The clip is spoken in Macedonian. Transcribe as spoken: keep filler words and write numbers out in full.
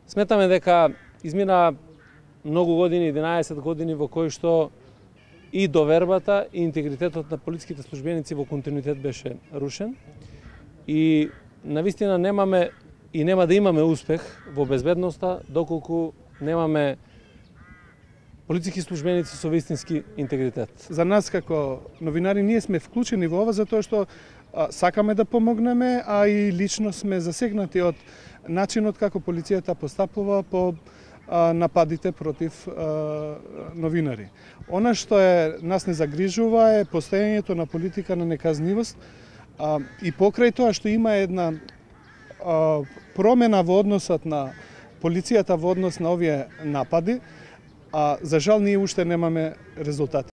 Сметаме дека измина многу години, единаесет години во кои што и довербата и интегритетот на полициските службеници во континуитет беше рушен и навистина немаме и нема да имаме успех во безбедноста доколку немаме полициски службеници со вистински интегритет. За нас како новинари ние сме вклучени во ова затоа што а, сакаме да помогнеме, а и лично сме засегнати од начинот како полицијата постапува по а, нападите против а, новинари. Она што е нас не загрижува е постоењето на политика на неказнивост а, и покрај тоа што има една а, промена во односот на полицијата во однос на овие напади, а за жал ние уште немаме резултати.